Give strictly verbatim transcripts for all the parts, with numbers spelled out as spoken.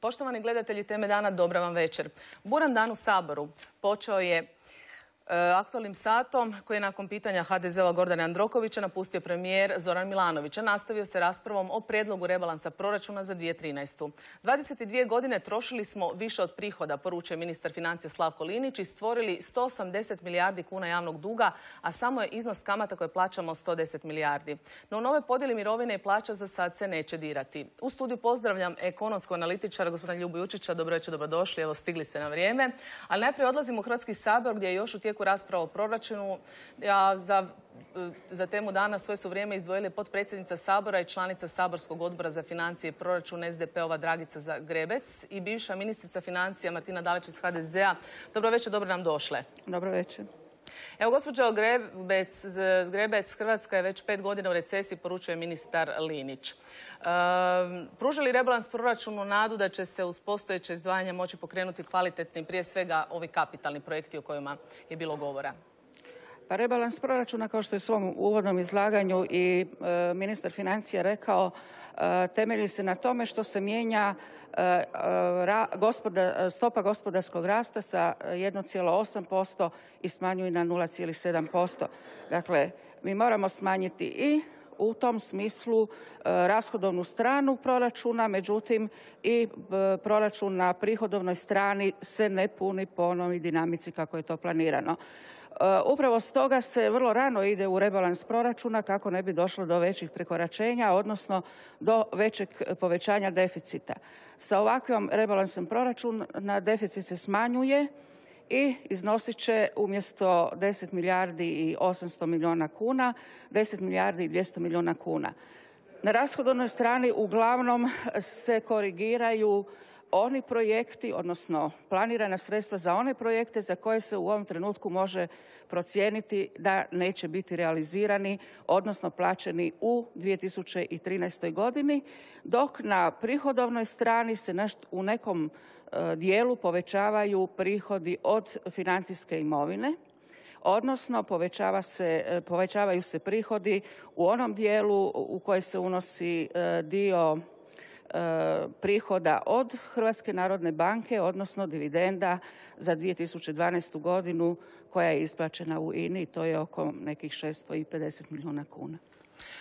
Poštovani gledatelji Teme dana, dobra vam večer. Buran dan u Saboru počeo je aktualnim satom koji je nakon pitanja ha de zea Gordana Jandrokovića napustio premijer Zoran Milanović, a nastavio se raspravom o prijedlogu rebalansa proračuna za dvije tisuće trinaestu. dvadeset dvije godine trošili smo više od prihoda, poručuje ministar financija Slavko Linić, i stvorili sto osamdeset milijardi kuna javnog duga, a samo je iznos kamata koje plaćamo sto deset milijardi. No u nove podjeli mirovine i plaća za sad se neće dirati. U studiju pozdravljam ekonomskog analitičara gospodina Ljubu Jučića. Dobro večer, dobrodošli. Evo, stigli se na vrijeme. Ali najprije odlazimo u Hrvatski sabor gdje je još u tijeku rasprava o proračunu. Ja za, za temu dana svoje su vrijeme izdvojili potpredsjednica Sabora i članica Saborskog odbora za financije i proračun es de pe ova Dragica Zgrebec i bivša ministrica financija Martina Dalić iz ha de zea. Dobro večer, dobro nam došle. Dobro večer. Evo, gospođo Zgrebec, Zgrebec, Hrvatska je već pet godina u recesiji, poručuje ministar Linić. E, pruža li rebalans proračunu nadu da će se uz postojeće izdvajanja moći pokrenuti kvalitetni, prije svega ovi kapitalni projekti o kojima je bilo govora? Pa rebalans proračuna, kao što je u svom uvodnom izlaganju i e, ministar financija rekao, e, temelji se na tome što se mijenja e, ra, gospoda, stopa gospodarskog rasta sa jedan zarez osam posto i smanjuje na nula zarez sedam posto. Dakle, mi moramo smanjiti i u tom smislu e, rashodovnu stranu proračuna, međutim i e, proračun na prihodovnoj strani se ne puni po onoj dinamici kako je to planirano. Upravo stoga se vrlo rano ide u rebalans proračuna kako ne bi došlo do većih prekoračenja, odnosno do većeg povećanja deficita. Sa ovakvim rebalansom proračuna deficit se smanjuje i iznosit će umjesto deset milijardi i osamsto milijuna kuna, deset milijardi i dvjesto milijuna kuna. Na rashodovnoj strani uglavnom se korigiraju oni projekti, odnosno planirana sredstva za one projekte za koje se u ovom trenutku može procijeniti da neće biti realizirani, odnosno plaćeni u dvije tisuće trinaestoj godini, dok na prihodovnoj strani se u nekom dijelu povećavaju prihodi od financijske imovine, odnosno povećava se, povećavaju se prihodi u onom dijelu u koji se unosi dio prihoda od Hrvatske narodne banke, odnosno dividenda za dvije tisuće dvanaestu godinu koja je isplaćena u i ne i, to je oko nekih šesto pedeset milijuna kuna.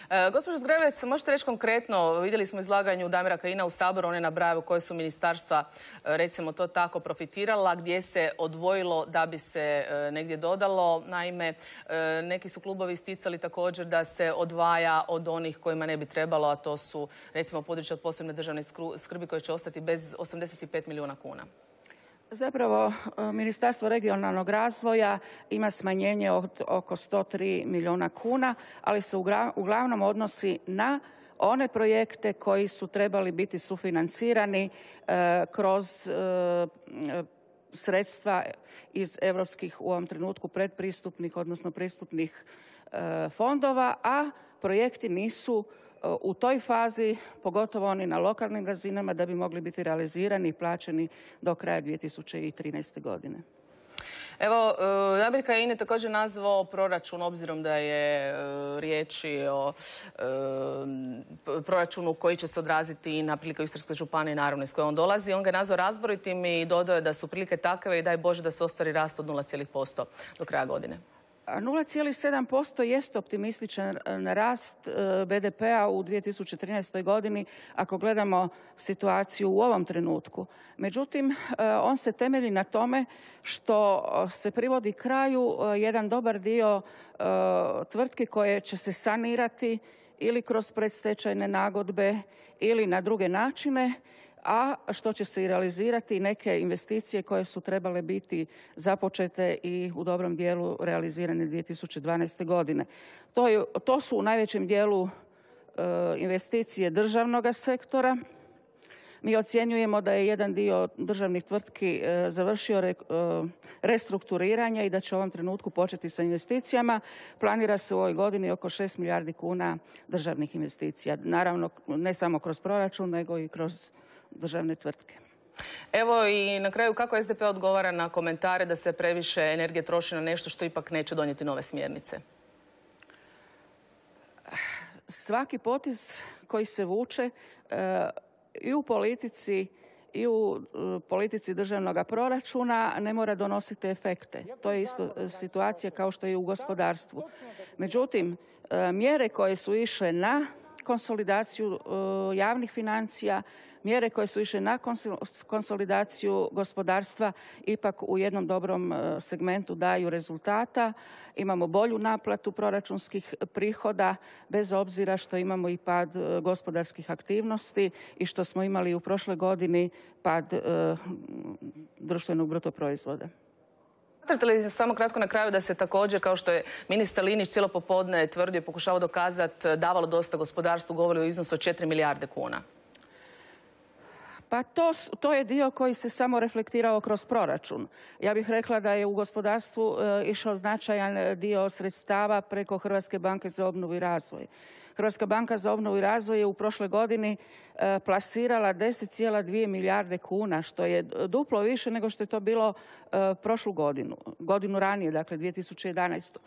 E, gospođo Zgrebec, možete reći konkretno, vidjeli smo izlaganju Damira Kajina u Saboru, one nabrajaju koje su ministarstva, recimo to tako, profitirala, gdje se odvojilo da bi se e, negdje dodalo. Naime, e, neki su klubovi isticali također da se odvaja od onih kojima ne bi trebalo, a to su recimo područja od posebne državne skrbi koje će ostati bez osamdeset pet milijuna kuna. Zapravo, Ministarstvo regionalnog razvoja ima smanjenje od oko sto tri milijuna kuna, ali se uglavnom odnosi na one projekte koji su trebali biti sufinancirani e, kroz e, sredstva iz europskih, u ovom trenutku predpristupnih, odnosno pristupnih e, fondova, a projekti nisu u toj fazi, pogotovo oni na lokalnim razinama, da bi mogli biti realizirani i plaćeni do kraja dvije tisuće trinaeste godine. Evo, Damir Kajin je također nazvao proračun, obzirom da je riječi o proračunu koji će se odraziti na prilike u Istarskoj županiji, naravno iz koje on dolazi. On ga je nazvao razboritim i dodao je da su prilike takve i daj Bože da se ostvari rast od nula zarez posto do kraja godine. nula zarez sedam posto jest optimističan rast be de pea u dvije tisuće trinaestoj godini ako gledamo situaciju u ovom trenutku. Međutim, on se temelji na tome što se privodi kraju jedan dobar dio tvrtki koje će se sanirati ili kroz predstečajne nagodbe ili na druge načine, a što će se i realizirati neke investicije koje su trebale biti započete i u dobrom dijelu realizirane dvije tisuće dvanaeste godine. To, je, to su u najvećem dijelu e, investicije državnog sektora. Mi ocjenjujemo da je jedan dio državnih tvrtki e, završio re, e, restrukturiranje i da će u ovom trenutku početi sa investicijama. Planira se u ovoj godini oko šest milijardi kuna državnih investicija. Naravno, ne samo kroz proračun, nego i kroz državne tvrtke. Evo i na kraju, kako es de pe odgovara na komentare da se previše energije troši na nešto što ipak neće donijeti nove smjernice? svaki potez koji se vuče i u politici i u politici državnog proračuna ne mora donositi efekte. To je isto situacija kao što je i u gospodarstvu. Međutim, mjere koje su išle na konsolidaciju javnih financija, mjere koje su išle na konsolidaciju gospodarstva ipak u jednom dobrom segmentu daju rezultata. Imamo bolju naplatu proračunskih prihoda bez obzira što imamo i pad gospodarskih aktivnosti i što smo imali u prošloj godini pad društvenog bruto proizvoda. Smatrate li samo kratko na kraju da se također, kao što je ministar Linić cijelo popodne tvrdio, pokušavao dokazati, davalo dosta gospodarstvu, govori o iznosu od četiri milijarde kuna? Pa to, to je dio koji se samo reflektirao kroz proračun. Ja bih rekla da je u gospodarstvu e, išao značajan dio sredstava preko Hrvatske banke za obnovu i razvoj. Hrvatska banka za obnovu i razvoj je u prošloj godini e, plasirala deset zarez dvije milijarde kuna, što je duplo više nego što je to bilo e, prošlu godinu, godinu ranije, dakle dvije tisuće jedanaestu.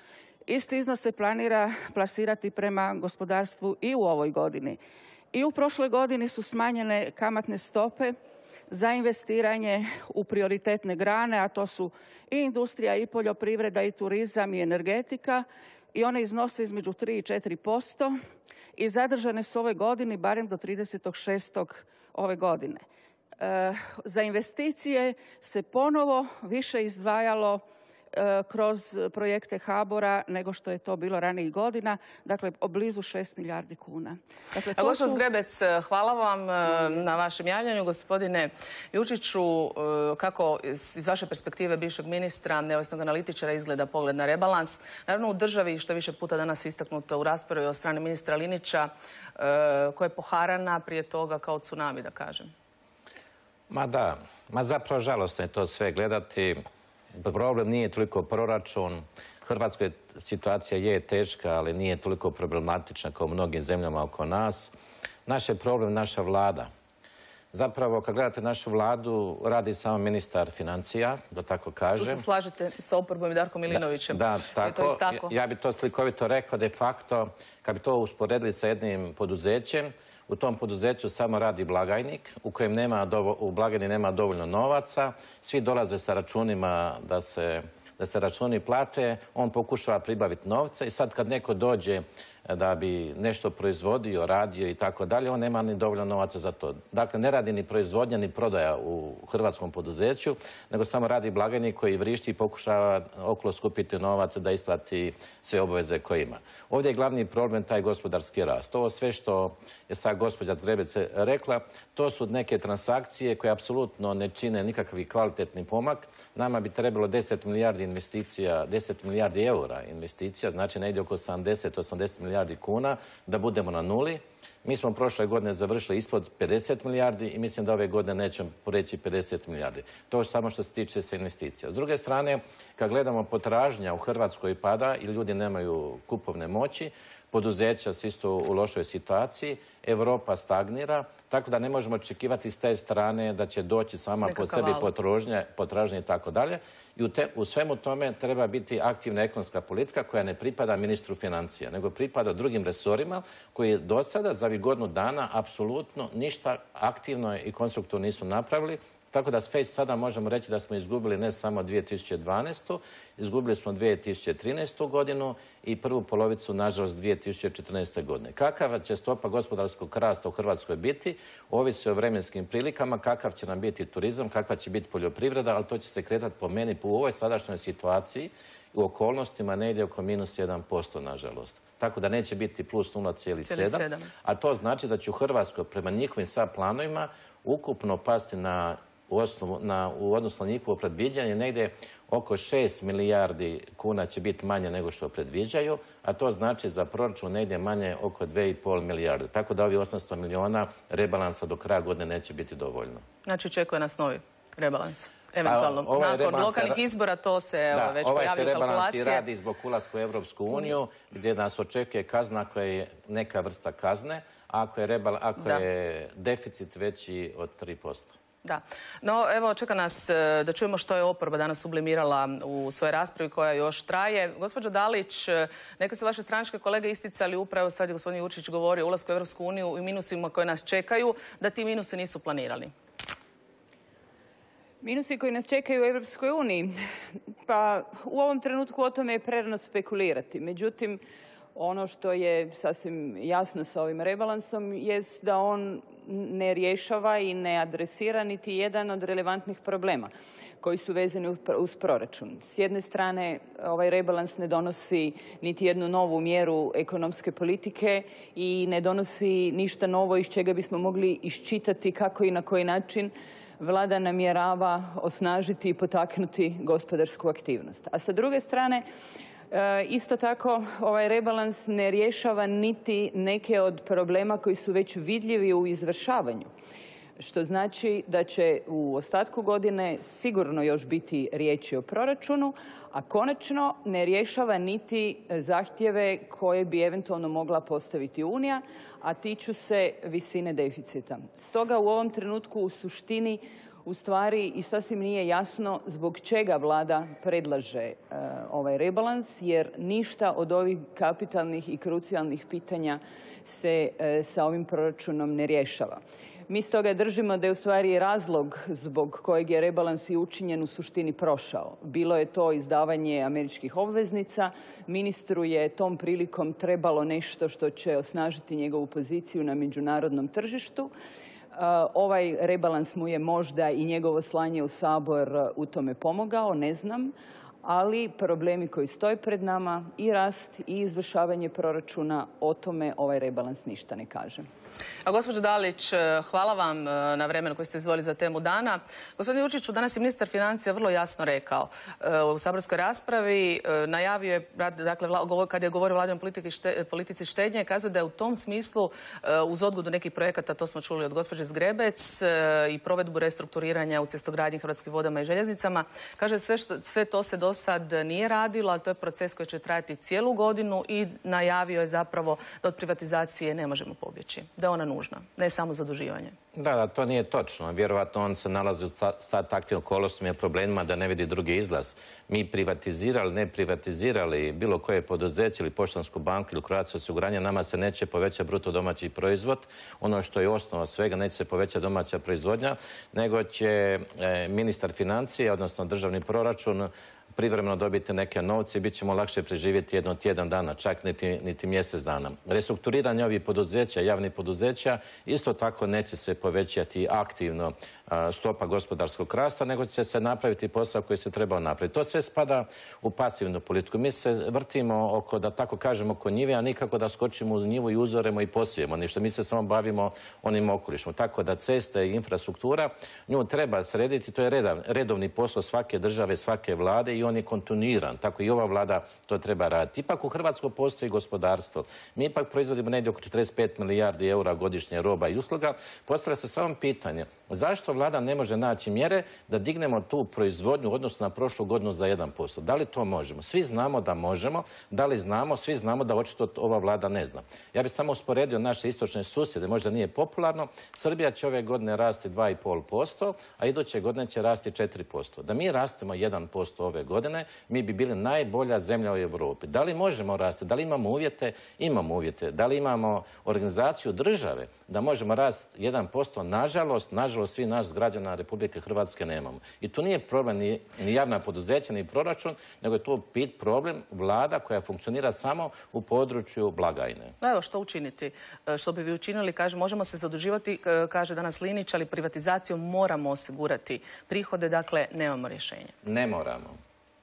Isti iznos se planira plasirati prema gospodarstvu i u ovoj godini. I u prošloj godini su smanjene kamatne stope za investiranje u prioritetne grane, a to su i industrija, i poljoprivreda, i turizam, i energetika. I one iznose između tri i četiri posto i zadržane su ove godini barem do tridesetog šestog ove godine. E, za investicije se ponovo više izdvajalo kroz projekte HBOR-a nego što je to bilo ranijih godina, dakle blizu šest milijardi kuna. Dakle, to su... Zgrebec, hvala vam na vašem javljanju. Gospodine Jučiću, kako iz vaše perspektive bivšeg ministra, neovisnog analitičara, izgleda pogled na rebalans? Naravno u državi, što je više puta danas istaknuto u raspravi od strane ministra Linića, koja je poharana prije toga kao tsunami, da kažem. Ma da, ma zapravo žalostno je to sve gledati. Problem nije toliko proračun. Hrvatskoj situacija je teška, ali nije toliko problematična kao u mnogim zemljama oko nas. Naš je problem naša vlada. Zapravo, kad gledate našu vladu, radi samo ministar financija, da tako kažem. Tu se slažete sa oporbom i Darkom Milinovićem. Da, da tako. Ja, ja bi to slikovito rekao, de facto, kad bi to usporedili sa jednim poduzećem, u tom poduzeću samo radi blagajnik, u kojem nema dovo, u blagajni nema dovoljno novaca, svi dolaze sa računima da se, da se računi plate, on pokušava pribaviti novce i sad kad neko dođe da bi nešto proizvodio, radio i tako dalje, on nema ni dovoljno novaca za to. Dakle, ne radi ni proizvodnja, ni prodaja u hrvatskom poduzeću, nego samo radi blagajnik koji vrišti i pokušava okolo skupiti novac da isplati sve obaveze koje ima. Ovdje je glavni problem taj gospodarski rast. Ovo sve što je sad gospođa Zgrebec rekla, to su neke transakcije koje apsolutno ne čine nikakvi kvalitetni pomak. Nama bi trebalo deset milijardi investicija, deset milijardi eura investicija, znači negdje oko sedamdeset do osamdeset milijardi kuna, da budemo na nuli. Mi smo prošle godine završili ispod pedeset milijardi i mislim da ove godine nećemo poreći pedeset milijardi. To je samo što se tiče se investicija. S druge strane, kad gledamo potražnja u Hrvatskoj pada i ljudi nemaju kupovne moći, poduzeća su isto u lošoj situaciji, Europa stagnira, tako da ne možemo očekivati s te strane da će doći sama po sebi potražnja i tako dalje. I u, te, u svemu tome treba biti aktivna ekonomska politika koja ne pripada ministru financija, nego pripada drugim resorima koji do sada za ovih godinu dana apsolutno ništa aktivno i konstruktivno nisu napravili. Tako da već sada možemo reći da smo izgubili ne samo dvije tisuće dvanaestu. Izgubili smo dvije tisuće trinaestu. godinu i prvu polovicu, nažalost, dvije tisuće četrnaeste. godine. Kakava će stopa gospodarskog rasta u Hrvatskoj biti, ovisi o vremenskim prilikama, kakav će nam biti turizam, kakva će biti poljoprivreda, ali to će se kretati po meni po ovoj sadašnjoj situaciji u okolnostima negdje oko minus jedan posto, nažalost. Tako da neće biti plus nula zarez sedam, a to znači da će u Hrvatskoj prema njihovim sad planovima ukupno pasti na U, osnovu, na, u odnosu na njihovo predviđanje negdje oko šest milijardi kuna će biti manje nego što predviđaju, a to znači za proračun negdje manje oko dvije i pol milijarde. Tako da ovi osamsto miliona rebalansa do kraja godine neće biti dovoljno. Znači očekuje nas novi rebalans? Eventualno. Ovaj nakon lokalnih izbora to se da, već ovaj pojavljaju kalkulacije. Ovaj se rebalans i radi zbog ulaska u Europsku uniju, gdje nas očekuje kazna koja je neka vrsta kazne, ako je, rebal, ako je deficit veći od tri posto. Da. No, evo, čeka nas da čujemo što je oporba danas sublimirala u svojoj raspravi koja još traje. Gospođo Dalić, neke su vaše stranačke kolege isticali upravo, sad je gospodin Jurčić govorio o ulasku u Europsku uniju i minusima koje nas čekaju, da ti minusi nisu planirani. Minusi koji nas čekaju u Europskoj uniji? Pa u ovom trenutku o tome je prerano spekulirati. Međutim, ono što je sasvim jasno sa ovim rebalansom jest da on ne rješava i ne adresira niti jedan od relevantnih problema koji su vezani uz proračun. S jedne strane, ovaj rebalans ne donosi niti jednu novu mjeru ekonomske politike i ne donosi ništa novo iz čega bismo mogli iščitati kako i na koji način Vlada namjerava osnažiti i potaknuti gospodarsku aktivnost. A sa druge strane, isto tako, ovaj rebalans ne rješava niti neke od problema koji su već vidljivi u izvršavanju. Što znači da će u ostatku godine sigurno još biti riječi o proračunu, a konačno ne rješava niti zahtjeve koje bi eventualno mogla postaviti Unija, a tiču se visine deficita. Stoga u ovom trenutku u suštini u stvari i sasvim nije jasno zbog čega Vlada predlaže e, ovaj rebalans, jer ništa od ovih kapitalnih i krucijalnih pitanja se e, sa ovim proračunom ne rješava. Mi stoga držimo da je u stvari razlog zbog kojeg je rebalans i učinjen u suštini prošao. Bilo je to izdavanje američkih obveznica. Ministru je tom prilikom trebalo nešto što će osnažiti njegovu poziciju na međunarodnom tržištu. Ovaj rebalans mu je možda i njegovo slanje u Sabor u tome pomogao, ne znam, ali problemi koji stoje pred nama, i rast i izvršavanje proračuna, o tome ovaj rebalans ništa ne kaže. A gospođo Dalić, hvala vam na vremenu koje ste izdvojili za temu dana. Gospodin Jurčiću, danas je ministar financija vrlo jasno rekao u saborskoj raspravi, najavio je, dakle, kad je govorio o Vladinoj politici štednje, kazao da je u tom smislu uz odgodu nekih projekata, to smo čuli od gospođe Zgrebec, i provedbu restrukturiranja u cestogradnji, Hrvatskim vodama i željeznicama, kaže sve, što, sve to se do sad nije radilo, ali to je proces koji će trajati cijelu godinu i najavio je zapravo da od privatizacije ne možemo pobjeći, da je ona nužna, ne samo zaduživanje. Da, da, to nije točno. Vjerovatno on se nalazi u sad takvim okolnostima i problemima da ne vidi drugi izlaz. Mi privatizirali, ne privatizirali bilo koje poduzeće ili Poštansku banku ili Croatia osiguranje, nama se neće povećati bruto domaći proizvod. Ono što je osnova svega, neće se povećati domaća proizvodnja, nego će e, ministar financije, odnosno državni proračun, privremeno dobiti neke novce i bit ćemo lakše preživjeti jedno tjedan dana, čak niti, niti mjesec dana. Restrukturiranje ovih poduzeća, javnih poduzeća, isto tako neće se povećati aktivno a, stopa gospodarskog rasta, nego će se napraviti posao koji se trebao napraviti. To sve spada u pasivnu politiku. Mi se vrtimo oko, da tako kažemo, oko njive, a nikako da skočimo u njivu i uzoremo i posijemo ništa. Mi se samo bavimo onim okolišom. Tako da ceste i infrastruktura, nju treba srediti. To je redav, redovni posao svake države, svake vlade i on je kontinuiran. Tako i ova vlada to treba raditi. Ipak u Hrvatskoj postoji gospodarstvo. Mi ipak proizvodimo negdje oko četrdeset pet milijardi eura godišnje roba i usluga. Postavlja se samo pitanje zašto vlada ne može naći mjere da dignemo tu proizvodnju u odnosu na prošlu godinu za jedan posto. Da li to možemo? Svi znamo da možemo. Da li znamo? Svi znamo da očito ova vlada ne zna. Ja bih samo usporedio naše istočne susjede. Možda nije popularno. Srbija će ove godine rasti dva i pol posto, a iduće godine će rasti četiri posto. Da mi rastemo jedan posto ove godine, mi bi bili najbolja zemlja u Europi. Da li možemo rasti? Da li imamo uvjete? Imamo uvjete. Da li imamo organizaciju države da možemo rasti jedan posto? Nažalost, nažalost, svi nas građana Republike Hrvatske nemamo. I tu nije problem ni, ni javna poduzeća, ni proračun, nego je to bit problem vlada koja funkcionira samo u području blagajne. Evo, što učiniti? Što bi vi učinili? Kaže, možemo se zaduživati, kaže danas Linić, ali privatizacijom moramo osigurati prihode, dakle, nemamo rješenja. Ne moramo.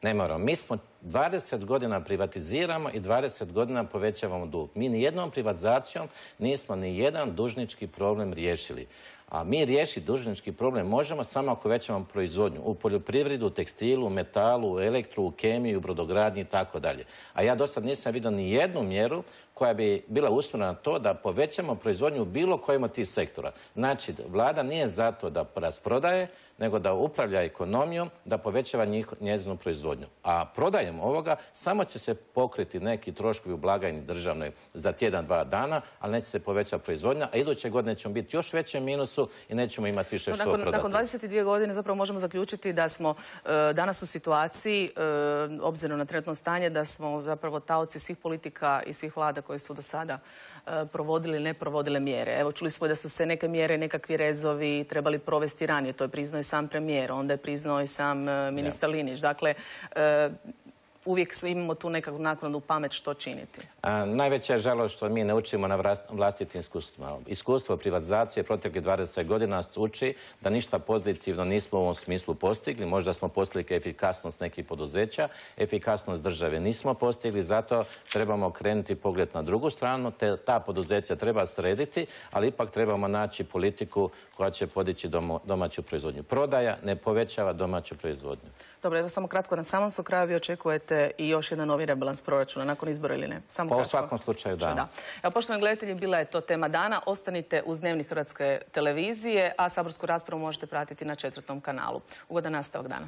Ne moramo. Mi smo dvadeset godina privatiziramo i dvadeset godina povećavamo dug. Mi ni jednom privatizacijom nismo ni jedan dužnički problem riješili. A mi riješiti dužnički problem možemo samo ako većamo proizvodnju u poljoprivredu, u tekstilu, u metalu, u elektru, u kemiju, u brodogradnji i tako dalje. A ja do sad nisam vidio ni jednu mjeru koja bi bila usmjerena na to da povećamo proizvodnju u bilo kojem od tih sektora. Znači, vlada nije zato da rasprodaje, nego da upravlja ekonomijom, da povećava njezinu proizvodnju. A prodajem ovoga samo će se pokriti neki troškovi u blagajni državnoj za tjedan, dva dana, ali neće se povećati proizvodnja, a iduće godine ćemo biti još većem minusu resursu i nećemo imati više što nakon, prodati. Nakon dvadeset dvije godine zapravo možemo zaključiti da smo e, danas u situaciji, e, obzirom na trenutno stanje, da smo zapravo taoci svih politika i svih vlada koji su do sada e, provodili, ne provodile mjere. Evo, čuli smo da su se neke mjere, nekakvi rezovi trebali provesti ranije. To je priznao i sam premijer, onda je priznao i sam e, ministar Linić. Dakle, e, uvijek imamo tu nekakvu naknadnu pamet što činiti. A, najveća je žalost što mi ne učimo na vlastitim iskustvima. Iskustvo privatizacije proteklih dvadeset godina uči da ništa pozitivno nismo u ovom smislu postigli. Možda smo postigli efikasnost nekih poduzeća, efikasnost države nismo postigli, zato trebamo krenuti pogled na drugu stranu, te ta poduzeća treba srediti, ali ipak trebamo naći politiku koja će podići domaću proizvodnju. Prodaja ne povećava domaću proizvodnju. Dobro, evo samo kratko, na samom su kraju vi očekujete i još jedan novi rebalans proračuna nakon izbora ili ne? Samo pa kratko. U svakom slučaju da. da. Evo, poštovani gledatelji, bila je to tema dana. Ostanite uz Dnevnik Hrvatske televizije, a saborsku raspravu možete pratiti na četvrtom kanalu. Ugodan nastavak dana.